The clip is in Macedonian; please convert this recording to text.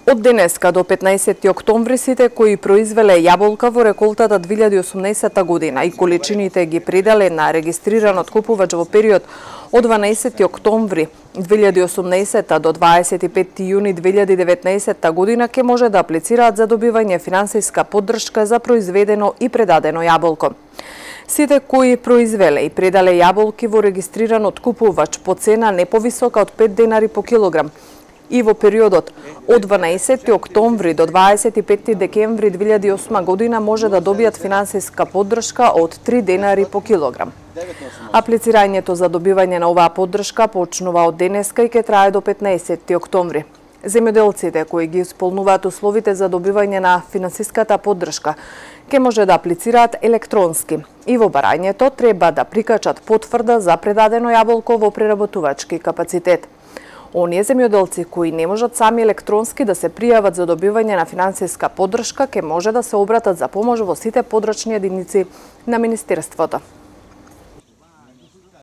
Од денеска до 15 октомври сите кои произвеле јаболка во реколтата 2018 година и количините ги предале на регистриран откупувач во период од 12 октомври 2018 до 25 јуни 2019 година ќе може да аплицираат за добивање финансиска поддршка за произведено и предадено јаболко. Сите кои произвеле и предале јаболки во регистриран откупувач по цена не повисока од 5 денари по килограм и во периодот од 12 октомври до 25 декември 2008 година може да добијат финансиска поддршка од 3 денари по килограм. Аплицирањето за добивање на оваа поддршка почнува од денеска и ќе трае до 15 октомври. Земјоделците кои ги исполнуваат условите за добивање на финансиската поддршка ќе може да аплицираат електронски и во барањето треба да прикачат потврда за предадено јаболко во преработувачки капацитет. Оние земјоделци кои не можат сами електронски да се пријават за добивање на финансиска поддршка ќе може да се обратат за помош во сите подрачни единици на Министерството.